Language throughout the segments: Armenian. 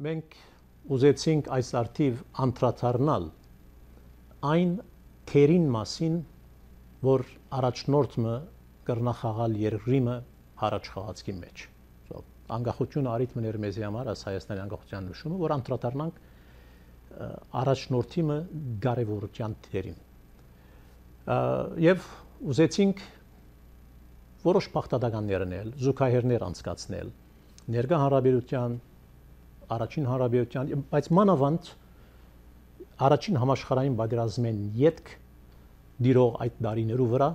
Մենք ուզեցինք այս արդիվ անդրադառնալ այն թերին մասին, որ առաջնորդը կրնախաղալ երկրիմը հարաճ խաղացքի մեջ։ Անկախությունը արիթմն էր մեզի համար, այս Հայաստանի անկախության նշումը, որ անդրադառնանք առաջնորդի կարևորության թերին։ Եվ ուզեցինք որոշ փախտականներ անել, զուգահեռներ անցկացնել, ներկա հարաբերության, առաջին հարաբերության, բայց մանավանդ առաջին համաշխարհային պատերազմեն ետք դիրող այդ տարիներու վրա,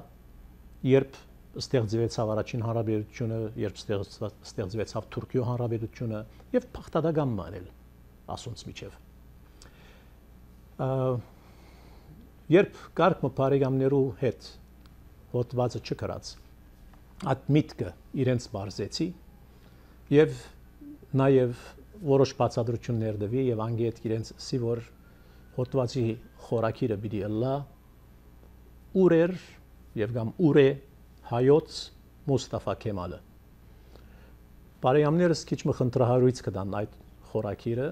երբ ստեղծվեցավ առաջին հարաբերությունը, երբ ստեղծվեցավ Թուրքիո հարաբերությունը եւ փախտական մանել ասոնց միջև։ Երբ կարգ բարեկամներու հետ հոդվածը չկրած, այդ միտքը իրենց բարձեցի եւ նաեւ որոշ բացատրություններ դվի եւ անգետ իրենց սի որ հոդվածի խորակիրը պիտի ըլլա ուր էր եւ կամ ուր է հայոց Մուստաֆա Քեմալը։ Բարեկամներս քիչ մխնդրահարույց կդան այդ խորակիրը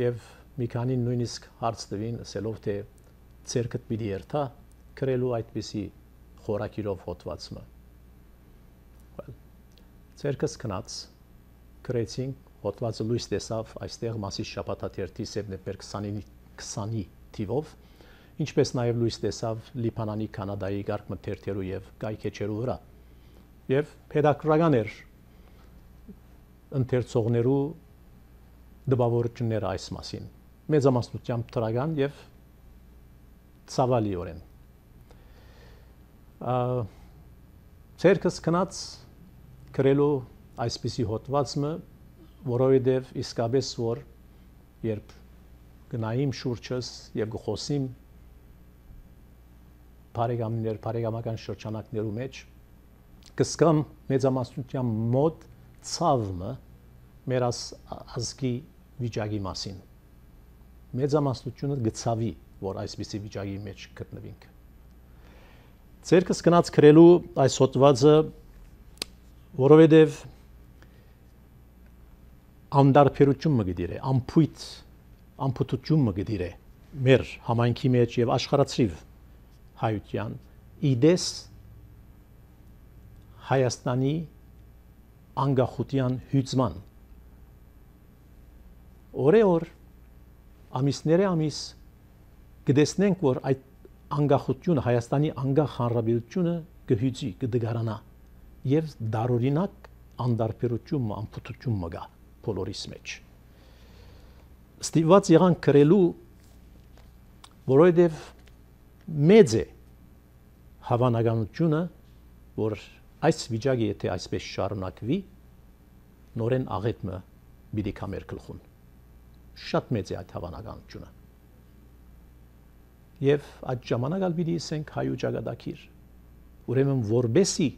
եւ մի քանի նույնիսկ հարց տվին ասելով թե ցերկդ պիտի երթա գրելու այդպիսի խորակիրով հոդվածը։ Ցերկս կնած գրեցինք հոդվածը լույս տեսավ այստեղ Մասիս շաբաթաթերթի սեպտեմբեր 20-ի թիվով, ինչպես նաև լույս տեսավ Լիբանանի, Կանադայի գարկմթերթերու եւ կայքեչերու վրա։ Եվ պետական էր ընթերցողներու դպավորությունները այս մասին։ Մեծամասնությամբ դրական եւ ցավալիորեն։ Ցերկս կնած գրելու այսպիսի հոդվածը, որովհետև իսկապես որ երբ գնայիմ շուրջս եւ գխոսիմ բարեկամական շրջանակներու մեջ կսկամ մեծամասնության մոտ ցավը մեր ազգի վիճակի մասին։ Մեծամասնությունը գցավի, որ այսպիսի վիճակի մեջ գտնվենք։ Ցերկս գնաց գրելու այս հոդվածը, որովհետև անդարբերություն մը գդիրե, ամփոփություն մը գդիրե մեր համայնքի մեջ եւ աշխարհացրիվ հայության իդես Հայաստանի անկախության հյուծման օրեօր ամիսները ամիս կդեսնենք որ այդ անկախությունը Հայաստանի անկախ հանրապետությունը կհյուծի կդգարանա եւ դարօրինակ անդարբերություն ամփոփություն մը գա բոլորիս մեջ ստիված եղան գրելու որովհետև մեծ է հավանականությունը որ այս վիճակը եթե այսպես շարունակվի նորեն աղետը պիտի կամեր գլխուն շատ մեծ է այդ հավանականությունը եւ այդ ժամանակալ պիտի ասենք հայու ճակատագիր ուրեմն որբեսի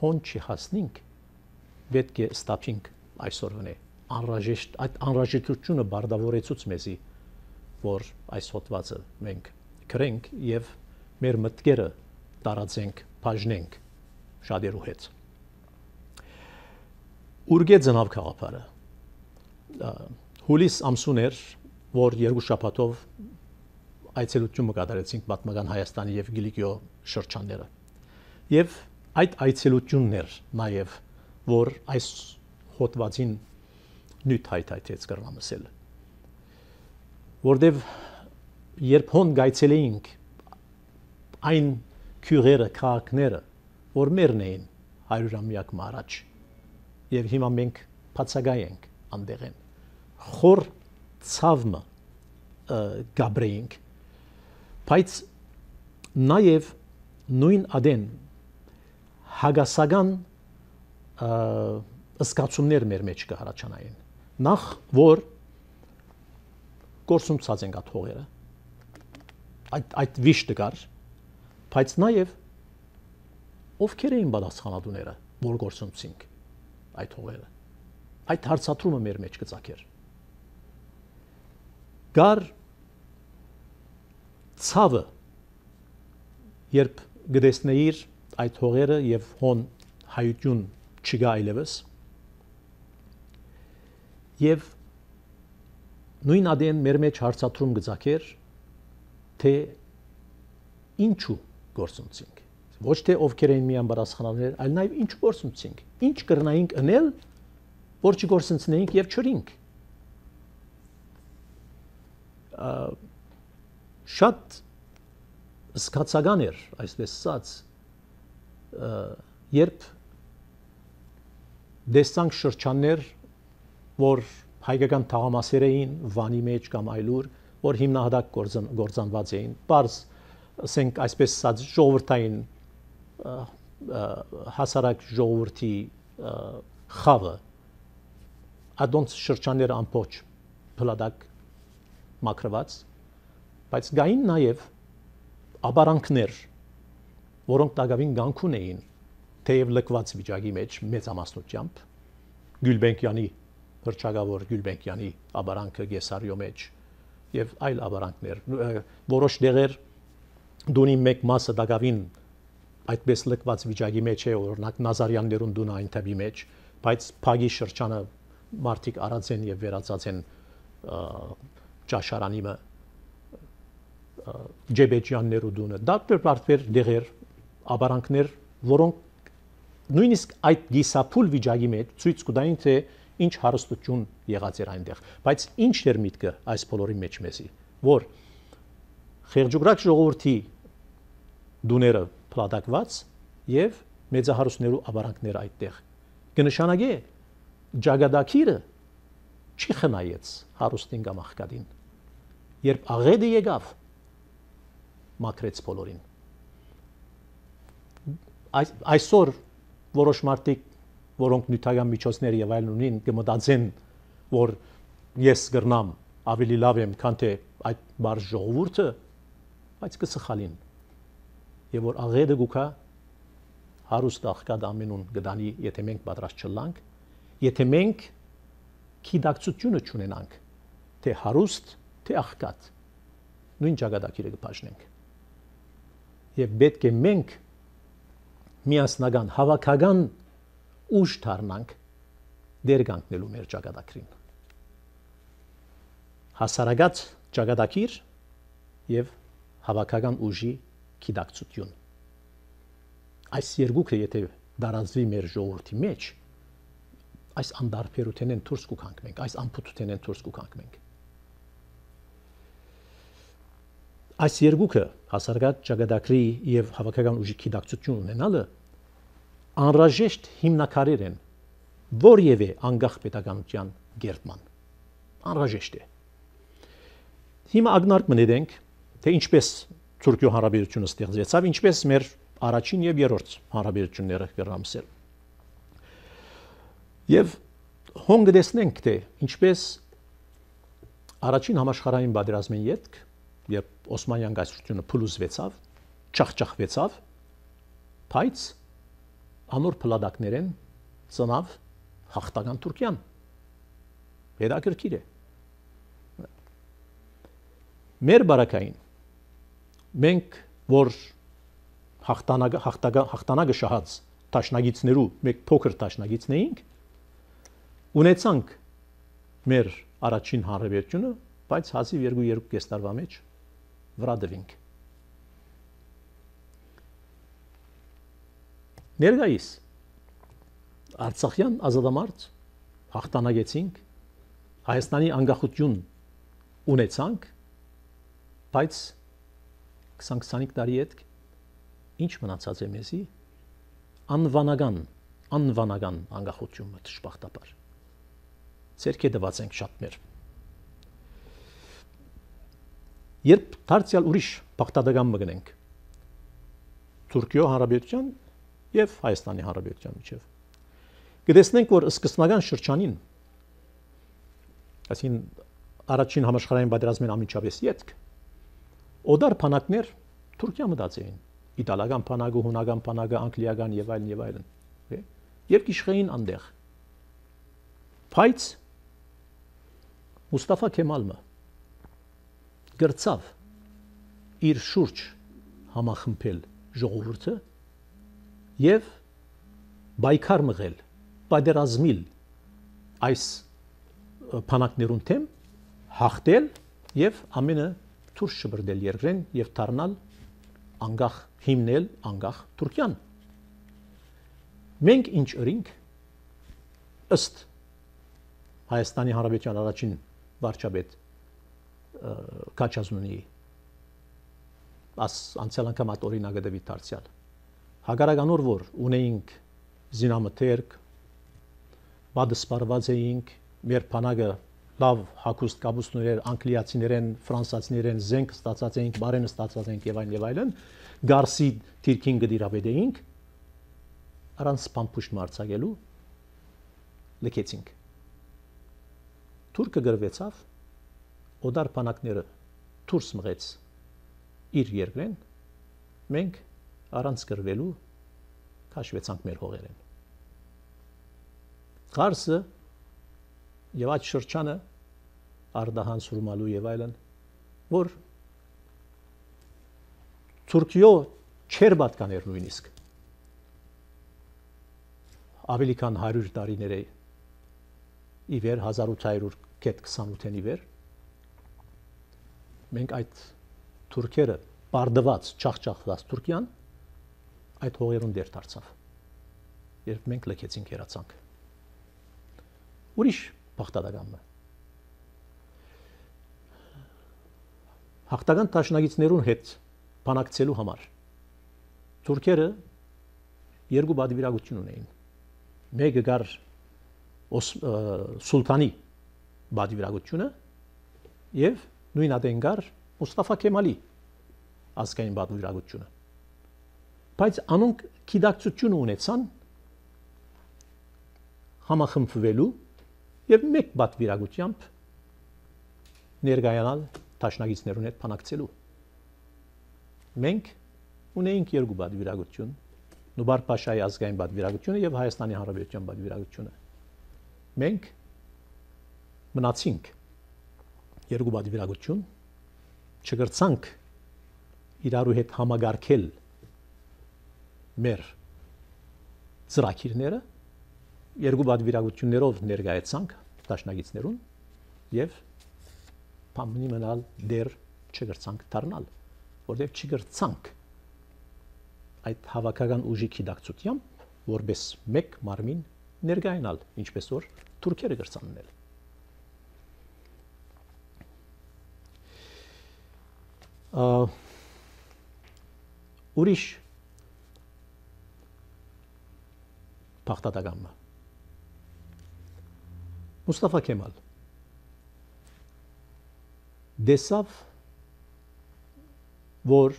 հոն չհասնենք պետք է ստապինք այսօրվնե անհրաժեշտ այդ անհրաժեշտությունը բարդավորեցուց մեզի որ այս հոդվածը մենք գրենք եւ մեր մտքերը տարածենք բաժնենք շատերու հետ ուրգե ծնավ քաղաքարը հուլիս ամսուներ որ երկու շաբաթով այցելություն կատարեցինք պատմական Հայաստանի եւ Կիլիկիո շրջանները եւ այդ այցելություններ նաեւ որ այս հոդվածին նույն հայտայթեց կրնամսել որտեւ երբ հոն գայցելեինք այն քյուրերը քաղաքները որ մերն էին 100-ամյակ առաջ եւ հիմա մենք բացակայենք անդեղեն խոր ցավը գաբրեինք բայց նաեւ նույն ադեն հագասական ըսկացումներ մեր մեջ կհարաճանային նախ որ գործունցած ենք այդ հողերը այդ վիշտը կար բայց նաեւ ովքեր էին պատասխանատուները որ գործունցինք այդ հողերը այդ հարցատրումը մեր մեջ կծակեր գար ցավը երբ գտեսնեիր այդ հողերը եւ հոն հայություն չգա այլևս եւ նույն ադեն մեր մեջ հարցատրում գծակեր թե ինչու գործունցինք ոչ թե ովքեր են միան բարասխանալներ այլ նաեւ ինչու գործունցինք ինչ կրնայինք անել որ չգործունցնեինք եւ չրինք շատ զգացական էր այսպես ասած երբ դեսանք շրջաններ որ հայկական թաղամասեր էին Վանի մեջ կամ այլուր որ հիմնահատակ գործանված էին բարձ ասենք այսպես ասած ժողովրդային հասարակ ժողովրդի խավը ադոնց շրջանները ամբողջ փլադակ մակրված բայց գային նաև աբարանքներ որոնք դակավին գանքուն էին թեև լքված վիճակի մեջ մեծամասնությամբ Գյուլբենկյանի հրճագավոր Գյուլբենկյանի աբարանքը Գեսարյո մեջ եւ այլ աբարանքներ որոշ դեղեր դունի մեկ մասը դակավին այդպես լքված վիճակի մեջ է օրինակ Նազարյաններուն դունը այն թեպի մեջ բայց Փագի շրջանը մարտիկ արած են եւ վերածած են ճաշարանիմը Ջեբեջյաններու դունը դարբեր դեղեր աբարանքներ որոնք նույնիսկ այդ գիսափուլ վիճակի մեջ ցույց կտային թե ինչ հարստություն եղած էր այնտեղ բայց ինչ էր միտքը այս բոլորի մեջ մեզի որ խեղճուկրակ ժողովրդի դուները փլատակված եւ մեծահարուստներու աբարանքներ այդտեղ կնշանակե ջագադակիրը չի խնայեց հարուստին կամ աղքատին երբ աղեդը եկավ մակրեց բոլորին այսօր որոշ մարդիկ որոնք նյութական միջոցներ եւ այլն ունին կմտածեն որ ես գրնամ ավելի լավ եմ քան թե այդ բարձ ժողովուրդը բայց կսխալին եւ որ աղեդը գուքա հարուստ աղքատ ամենուն գդանի եթե մենք պատրաստ չլանք եթե մենք քիդակցությունը չունենանք թե հարուստ թե աղքատ նույն ճակատագիրը կփաշնենք եւ պետք է մենք միասնական հավաքական ուժ դառնանք դեր կանգնելու մեր ճակատագրին հասարակած ճակատագիր եւ հավաքական ուժի քիդակցություն այս երկուքը եթե դարածվի մեր ժողովրդի մեջ այս անդարբերութենեն դուրս կուքանք մենք այս ամփոփութենեն դուրս կուքանք մենք այս երկուքը հասարակած ճակատագրի եւ հավաքական ուժի քիդակցություն ունենալը անհրաժեշտ հիմնակարեր են որևէ անկախ պետականության գերտման անհրաժեշտ է հիմա ագնարկ մնենք թե ինչպես Թուրքիո հանրապետությունը ստեղծվեցավ ինչպես մեր առաջին եւ երրորդ հանրապետությունները կրամսել եւ հոնգ դեսնենք թե ինչպես առաջին համաշխարհային պատերազմին յետք երբ Օսմանյան կայսրությունը փլուզվեցավ չախճախվեցավ բայց անոր փլադակներեն ծնավ հաղթական Թուրքիան հետաքրքիր է մեր բարակային մենք որ հաղթանակը շահած տաշնագիցներու մեկ փոքր տաշնագիցն էինք ունեցանք մեր առաջին հանրապետությունը բայց հազիվ 2-2 տարվա մեջ վրա դվինք ներկայիս Արցախյան ազատամարտ հաղթանակեցինք Հայաստանի անկախություն ունեցանք բայց 20-25 տարի հետ ինչ մնացած է մեզի անվանական անկախությունը դժբախտաբար ցերկե դված ենք շատ մեր երբ դարձյալ ուրիշ բախտադական մգնենք Թուրքիո հանրապետության եւ Հայաստանի հանրապետության միջեւ կտեսնենք որ սկզբնական շրջանին այսին առաջին համաշխարհային պատերազմին ամիջապես յետք օդար փանակներ Թուրքիա մտած էին իտալական փանակը հունական փանակը անգլիական եւ այլն եւ գիշխեին անդեղ բայց Մուստաֆա Քեմալը գրծավ իր շուրջ համախմբել ժողովուրդը եւ բայկար մղել, պատերազմել այս բանակներուն թեմ, հաղթել եւ ամենը դուրս շբրդել երկրեն եւ դառնալ անկախ հիմնել անկախ Թուրքիան։ Մենք ինչ ըրինք ըստ Հայաստանի Հանրապետության առաջին վարչապետ Քաչազունի անցյալ անգամ այդ օրինակը դեպի դարձյալ հագարականոր որ ունեինք զինամթերք բադսպարված էինք մեր բանակը լավ հակուստ կապուստներ անգլիացիներեն ֆրանսացիներեն զենք ստացած էինք բարենը ստացած էինք եւ այլն գարսի թիրքին գդիրավեդեինք առանց պամփուշտ մարցակելու լքեցինք Թուրքը գրվեցավ օդար բանակները դուրս մղեց իր երկրեն մենք առանց գրվելու քաշվեցանք մեր հողերեն Ղարսը եւ այդ շրջանը Արդահան Սուրմալու եւ այլն որ Թուրքիո չեր պատկաներ նույնիսկ ավելի քան 100 տարիներ է ի վեր 1828-ին ի վեր մենք այդ թուրքերը բարդված չախճախված Թուրքիան այդ հողերուն դեր դարձավ երբ մենք լքեցինք երացանք ուրիշ բախտադակամը հաղթական տաշնագիցներուն հետ բանակցելու համար թուրքերը երկու բادرվիրագություն ունեին մեկը գար սուլտանի բادرվիրագությունը եւ նույն ադեն գար Մուստաֆա Քեմալի ազգային բادرվիրագությունը բայց անոնք գիտակցություն ունեցան համախմբվելու եւ մեկ բادرվիրագությամբ ներկայանալ տաշնագիցներուն հետ բանակցելու մենք ունեինք երկու բادرվիրագություն Նուբար Փաշայի ազգային բادرվիրագությունը եւ Հայաստանի Հանրապետության բادرվիրագությունը մենք մնացինք երկու բادرվիրագություն չգրցանք իրարու հետ համագարկել մեր ծրագիրները երկու բادرվիրագություններով ներկայացանք տաշնագիցներուն եւ փամնի մնալ դեր չգրցանք դառնալ որտեղ չգրցանք այդ հավաքական ուժի գիտակցությամբ որպես մեկ մարմին ներկայանալ ինչպես որ թուրքերը գրցաննել ուրիշ բախտադակամը Մուստաֆա Քեմալ դեսավ որ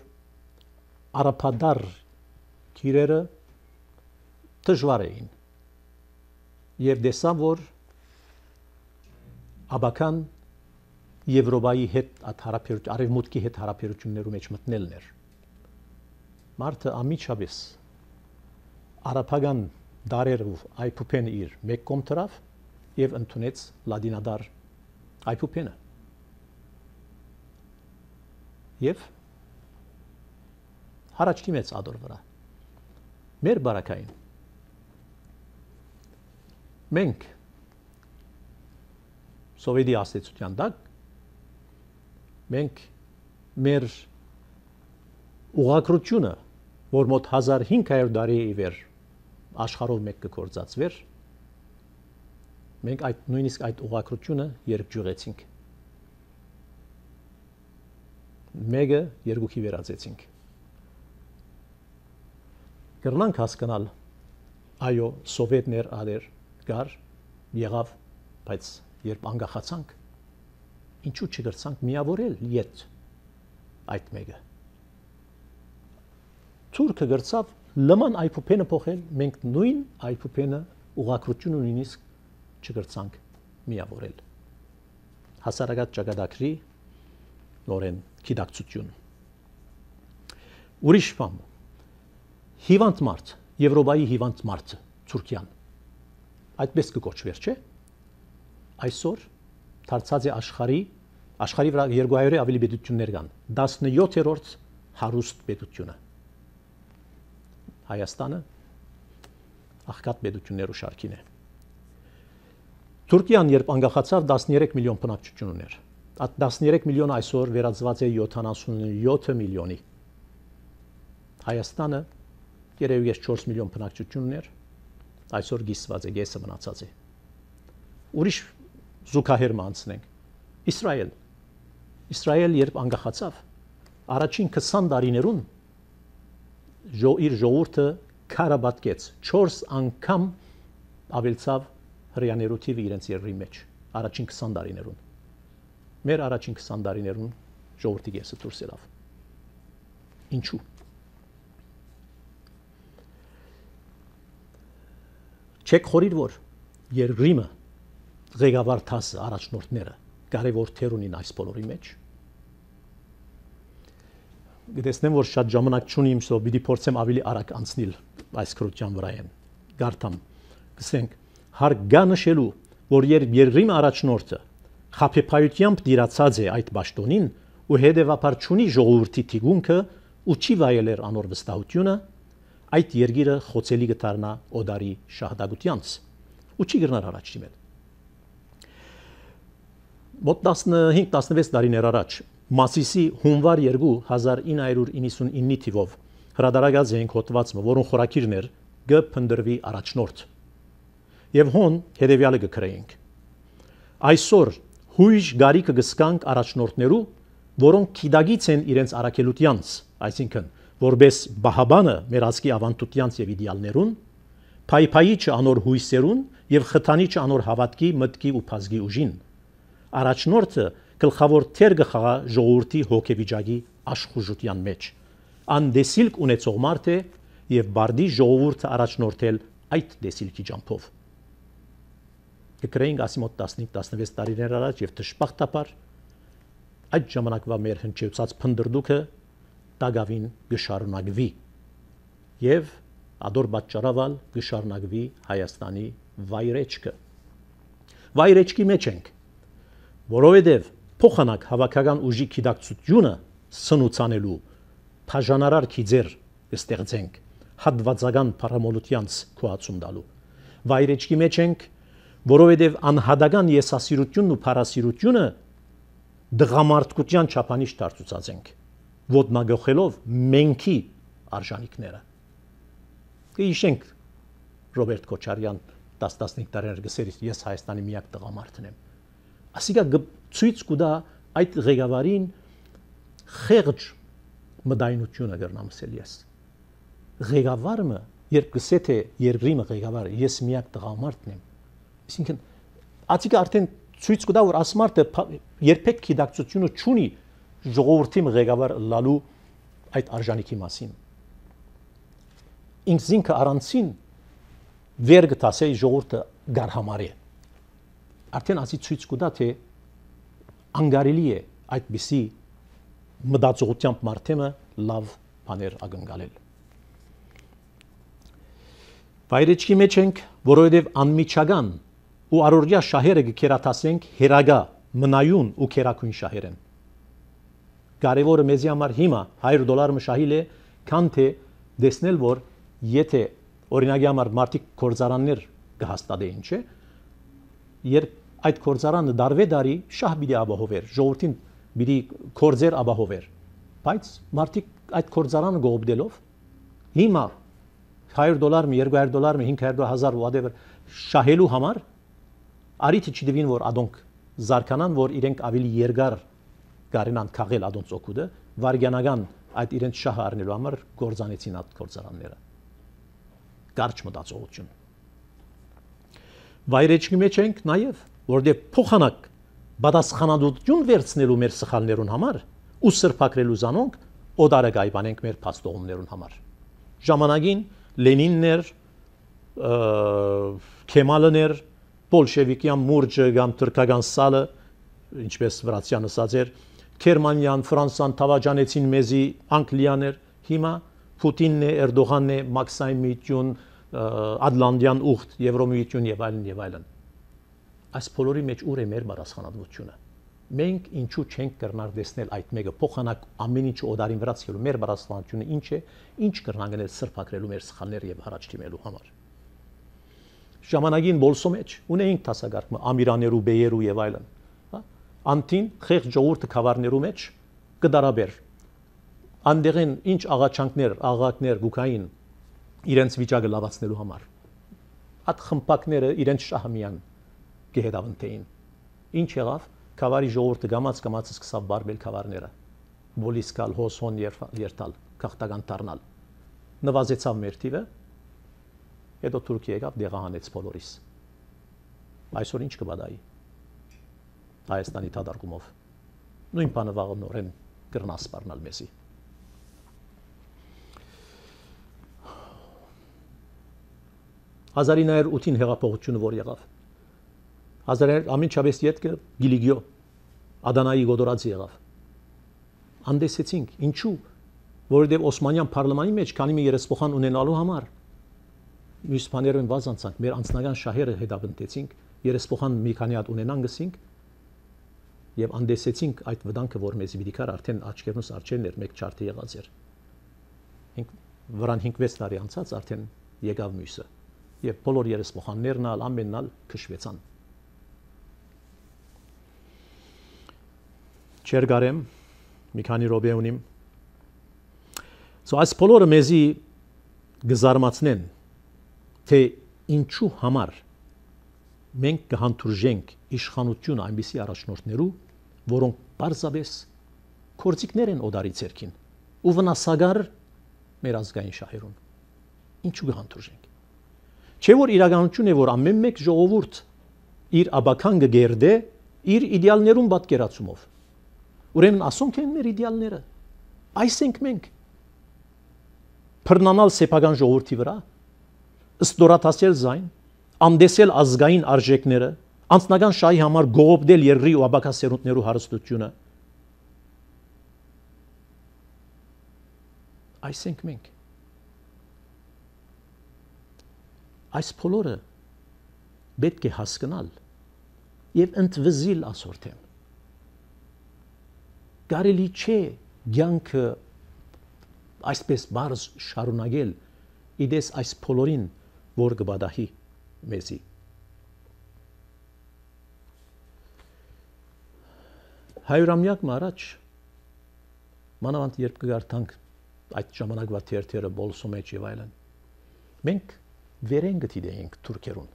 արաբադար քիրերը դժվար էին եւ դեսավ որ աբական Եվրոպայի հետ արևմուտքի հետ հարաբերություններու մեջ մտնելն էր մարդը ամիջապես արաբական դարերով այփուփեն իր մեկ կողմ դրավ եւ ընդունեց լադինադար այփուփենը եւ հարաճ դիմեց ադոր վրա մեր բարակային մենք սովետի աստեցության տակ մենք մեր ուղղակրությունը որ մոտ 1500 տարի ի վեր աշխարհով մեկ կգործածվեր մենք այդ նույնիսկ այդ ուղղակրությունը երկջուղեցինք մեկը երկուքի վերածեցինք կրնանք հասկանալ այո սովետներ ադեր գար եղավ բայց երբ անկախացանք ինչու չգրցանք միավորել իդ այդ մեկը Թուրքը գրծավ լման այփուփենը փոխել մենք նույն այփուփենը ուղղակրությունը նույնիսկ չգրցանք միավորել հասարակած ճակատագրի նորեն գիտակցություն ուրիշ բան հիվանդ մարդ Եվրոպայի հիվանդ մարդը Թուրքիան այդպես կոչվեր չէ այսօր դարձած է աշխարհի Աշխարհի վրա 200-ը ավելի պետություններ կան։ 17-րդ հարուստ պետությունը։ Հայաստանը աղքատ պետություններու շարքին է։ Թուրքիան երբ անկախացավ 13 միլիոն բնակչություն ուներ։ Այդ 13 միլիոնը այսօր վերածված է 77 միլիոնի։ Հայաստանը երևի 4 միլիոն բնակչություն ուներ, այսօր գիսված է, գեսը մնացած է։ Ուրիշ զուգահեռ անցնենք։ Իսրայել երբ անկախացավ, առաջին 20 տարիներուն իր ժողովուրդը քարաբատկեց 4 անգամ ավելցավ հрьяաներու թիվը իրենց երկրի մեջ առաջին 20 տարիներուն։ Մեր առաջին 20 տարիներուն ժողովրդի գեսը դուրս ելավ։ Ինչու՞։ Չեք խորիր որ երկրիմը ղեկավար դասը առաջնորդները կարևոր թեր ունին այս բոլորի մեջ։ Գտեսնեմ որ շատ ժամանակ չունիմ, սո պիտի փորձեմ ավելի արագ անցնել այս քրության վրա եմ։ Գարտամ, գսենք, հարկ գա նշելու, որ երբ երկրի առաջնորդը խաբեբայությամբ դիրացած է այդ պաշտոնին ու հետևաբար չունի ժողովրդի թիգունքը ու չի վայելեր անոր վստահությունը, այդ երկիրը խոցելի կդառնա օդարի շահդագությանց ու չի գնար առաջ դիմել։ Մոտ 15-16 տարիներ առաջ Մասիսի հունվար 2 1999 թիվով հրադարագած էինք հոդվածը, որոնց խորակիրն էր գփնդրվի առաջնորդ։ Եվ հոն հետևյալը կգրեինք։ Այսօր հույժ գարիկը գսկանք առաջնորդներու, որոնք քիդագից են իրենց արակելությանց, այսինքն որբես բահաբանը մեր ազգի ավանդությանց եւ իդեալներուն, փայփայիչը անոր հույսերուն եւ խթանիչը անոր հավատքի, մտքի ու փազգի ուժին։ Առաջնորդը գլխավոր թեր կխաղա ժողովրդի հոգեվիճակի աշխուժության մեջ։ Անդեսիլք ունեցող մարդ է եւ բարդի ժողովուրդը առաջնորդել այդ դեսիլքի ջամփով։ Կգրեինք ասիմոտ 15-16 տարիներ առաջ եւ դժբախտաբար այդ ժամանակվա մեր հնչեցած փնդրդուքը տագավին գշարունակվի եւ ադոր պատճառավալ գշարունակվի Հայաստանի վայրեջքը։ Վայրեջքի մեջ ենք, որովհետեւ փոխանակ հավաքական ուժի քիդակցությունը սնուցանելու բաժանարար քիձեր կստեղծենք հատվածական փառամոլությանց քոացում տալու։ Վայրեջքի մեջ ենք, որովհետև անհատական եսասիրությունն ու փառասիրությունը դղամարդկության չափանիշ դարձուցած ենք, ոտնագողելով մենքի արժանիքները։ Կհիշենք Ռոբերտ Քոչարյան 10-15 տարիներ գսեր ես Հայաստանի միակ տղամարդն եմ։ Ասիկա ցույց կուտա այդ ղեկավարին խեղճ մտայնությունը գրնամսել ես։ Ղեկավարը երբ գսե թե երկրի ղեկավարը ես միակ տղամարդն եմ, այսինքն ածիկա արդեն ցույց կտա որ ասմարտը երբեք քիդակցությունը չունի ժողովրդի ղեկավար լալու այդ արժանիքի մասին։ Ինքնինքը առանցին վեր գտասեի ժողովուրդը գարհամարի։ Արդեն ասի ցույց կտա թե անգարելի է այդպիսի մտածողությամբ մարդեմը լավ բաներ ակնկալել։ Վայրեջքի մեջ ենք, որովհետև անմիջական ու առօրյա շահերը կերատասենք հերագա, մնայուն ու քերակույն շահեր են։ Կարևորը մեզի համար հիմա $100 մշահիլ է, քան թե դեսնել որ եթե օրինակի համար մարդիկ կորձարաններ կհաստատեին, չէ, երբ այդ կորձարանը դարվե դարի շահ պիտի ապահովեր, ժողովրդին պիտի կորձեր ապահովեր, բայց մարդիկ այդ կորձարանը գողոպտելով հիմա $100, $200, $500,000 whatever շահելու համար արիթը չդվին որ ադոնք զարկանան որ իրենք ավելի երկար կարենան քաղել ադոնց օգուտը վարգյանական այդ իրենց շահը առնելու համար գործանեցին այդ գործարանները կարճ մտածողություն վայրեջքի մեջ ենք նաև որտեղ փոխանակ բադասխանադություն վերցնելու մեր սխալներուն համար ու սրբակրելու զանոնք օդարը գայբանենք մեր փաստողումներուն համար ժամանակին Լենիններ Քեմալներ Բոլշևիկյան մուրջը կամ թուրքական սալը ինչպես վրացյան ասած էր Գերմանիան Ֆրանսան թավաջանեցին մեզի Անգլիաներ հիմա Պուտինն է Էրդողանն է Մաքսիմիլիան Ադլանդյան ուխտ Եվրոմիություն եւ այլն այս բոլորի մեջ ուր է մեր բարձրանալությունը Մենք ինչու չենք կրնար տեսնել այդ մեկը փոխանակ ամեն ինչ օդարին վրա ցելու մեր բարձրացությունը ինչ է, ինչ կրնան գնել սրբակրելու մեր սխալները եւ առաջ դիմելու համար։ Ժամանակին բոլսո մեջ ունեինք տասագարկը ամիրաներու, բեյերու եւ այլն, հա։ Անտին խեղճ ժողովուրդը խավարներու մեջ կդարաբեր։ Անդերեն ինչ աղաչանքներ, աղակներ գուկային իրենց վիճակը լավացնելու համար։ Այդ խմպակները իրենց շահմյան գեհդավնտեին։ Ինչ եղավ։ Քավարի ժողովուրդը գամած սկսավ բարբել քավարները։ Բոլիսկալ, հոսոն երթալ, քաղաքական դառնալ։ Նվազեցավ մեր թիվը։ Հետո Թուրքիա եկավ դեղահանեց բոլորիս։ Այսօր ինչ կբադայի։ Հայաստանի թադարկումով։ Նույն բանը վաղը նորեն կրնա սպառնալ մեզի։ Հազարինայր 8-ին հեղափոխությունը որ եղավ։ Ամենչավես ետքը Գիլիգիո Ադանայի գոդորացի եղավ։ Անդեսեցինք, ինչու, որովհետև Օսմանյան պարլամանի մեջ քանի մի երեսփոխան ունենալու համար մյուս բաներով վազանցանք, մեր անձնական շահերը հետապնդեցինք, երեսփոխան մի քանի հատ ունենան գսինք եւ անդեսեցինք այդ վտանգը, որ մեզի պիտի կար արդեն աչքերնուս արջերն էր մեկ չարթի եղած էր։ Վրան 5-6 տարի անցած արդեն եկավ մյուսը եւ բոլոր երեսփոխաններն ալ ամենն ալ քշվեցան։ Չերգարեմ մի քանի րոպե ունիմ։ Այս բոլորը մեզի գզարմացնեն, թե ինչու համար մենք կհանդուրժենք իշխանությունը այնպիսի առաջնորդներու, որոնք պարզապես կորցիկներ են օդարի ցերքին ու վնասագար մեր ազգային շահերուն։ Ինչու կհանդուրժենք։ Չէ որ իրականություն է, որ ամեն մեկ ժողովուրդ իր աբական կգերդե իր իդեալներուն պատկերացումով։ Ուրեմն ասոնք են մեր իդեալները։ Այս ենք մենք։ Բռնանալ սեփական ժողովրդի վրա, ըստորաթասել զայն, անդեսել ազգային արժեքները, անձնական շահի համար գողոպտել երկրի ու աբակասերունդներու հարստությունը։ Այս ենք մենք։ Այս բոլորը պետք է հասկանալ եւ ընդվզիլ ասորթեն։ Կարելի չէ ցանկը այսպես բարձ շարունակել իդես այս բոլորին, որ կբադահի մեզի։ Հայրամյակ առաջ մանավանդ երբ կգարտանք այդ ժամանակվա թերթերը բոլսո մեջ եւ այլն, մենք վերեն գտիդեինք թուրքերուն։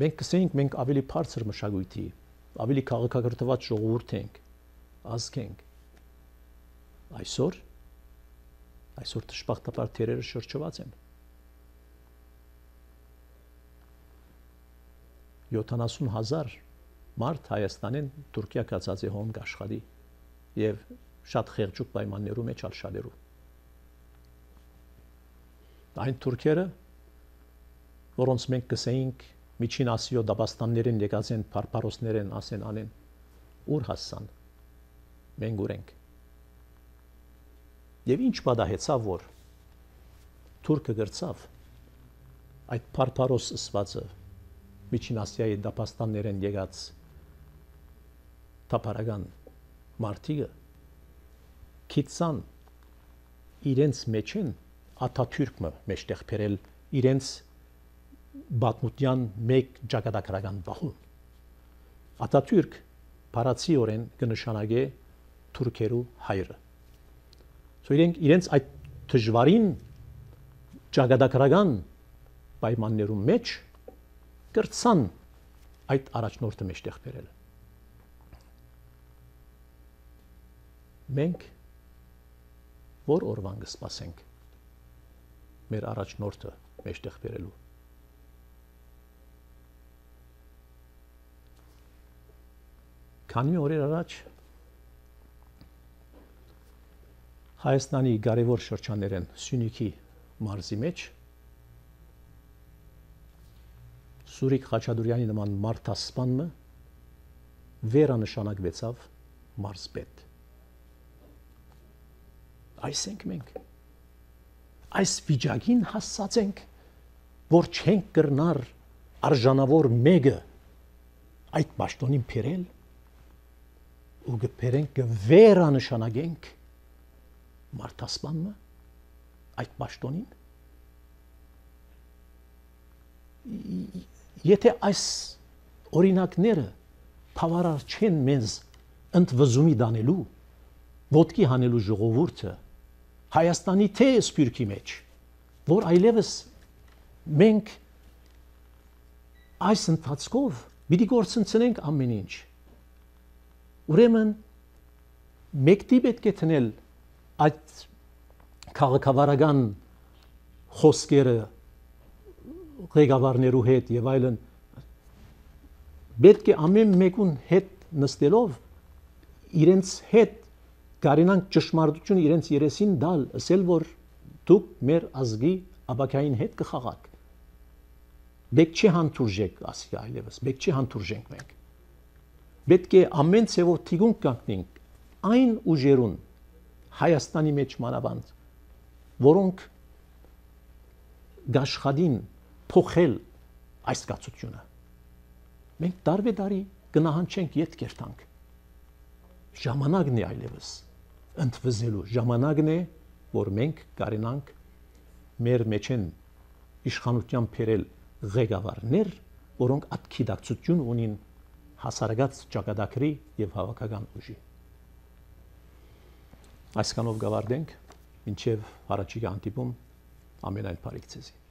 Մենք կսեինք մենք ավելի բարձր մշակույթի, ավելի քաղաքակրթված ժողովուրդ ենք, ազգ ենք։ Այսօր դժբախտաբար թերերը շրջված են։ 70,000 մարդ Հայաստանեն Թուրքիա կացած է հոն աշխատի եւ շատ խեղճուկ պայմաններու մեջ ալշալերու։ Այն թուրքերը, որոնց մենք կսեինք միջին Ասիո դաբաստաններին եկած են, փարփարոսներ են, ասեն անեն, ուր հասան, մենք ուր ենք։ Եվ ինչ պատահեցավ, որ թուրքը գրծավ այդ փարփարոս ըսվածը միջին Ասիայի դաբաստաններին եկած թափարական մարդիկը քիծան իրենց մեջ են Աթաթյուրքը մեջտեղ բերել իրենց բաթմուտյան մեկ ճակատագրական բախում։ Աթաթյուրք բառացիորեն կնշանակե թուրքերու հայրը։ Իրենց այդ դժվարին ճակատագրական պայմաններու մեջ կրծան այդ առաջնորդը մեջտեղ բերել։ Մենք որ օրվան կսպասենք մեր առաջնորդը մեջտեղ բերելու։ Քանի օրեր առաջ Հայաստանի կարևոր շրջաններեն Սյունիքի մարզի մեջ Սուրիկ Խաչատուրյանի նման մարդասպանը վերանշանակվեցավ մարզպետ։ Այս ենք մենք։ Այս վիճակին հասած ենք, որ չենք կրնար արժանավոր մեկը այդ պաշտոնին բերել ու գբերենք վերանշանագենք մարդասպանը այդ պաշտոնին եթե այս օրինակները բավարար չեն մեզ ընդվզումի դանելու ոտքի հանելու ժողովուրդը Հայաստանի թե սփյուռքի մեջ որ այլևս մենք այս ընթացքով պիտի գործընծնենք ամեն ինչ ուրեմն մեկտի պետք է տնել այդ քաղաքավարական խոսքերը ղեկավարներու հետ եւ այլն պետք է ամեն մեկուն հետ նստելով իրենց հետ կարենանք ճշմարտությունը իրենց երեսին դալ ասել որ դուք մեր ազգի ապակային հետ կխաղաք պետք չի հանդուրժեք ասի այլևս պետք չի հանդուրժենք մենք պետք է ամեն ցևով թիգուն կանգնենք այն ուժերուն Հայաստանի մեջ մանավանդ որոնք գաշխադին փոխել այս կացությունը մենք դարբեդարի գնահանչենք յետ կերտանք ժամանակն է այլևս ընդվզելու ժամանակն է որ մենք կարենանք մեր մեջ են իշխանության բերել ղեկավարներ որոնք ատքիդակցություն ունին հասարակած ճակատագրի եւ հավաքական ուժի այսքանով գավարդենք մինչեւ առաջիկա հանդիպում ամենայն բարիք ցեզի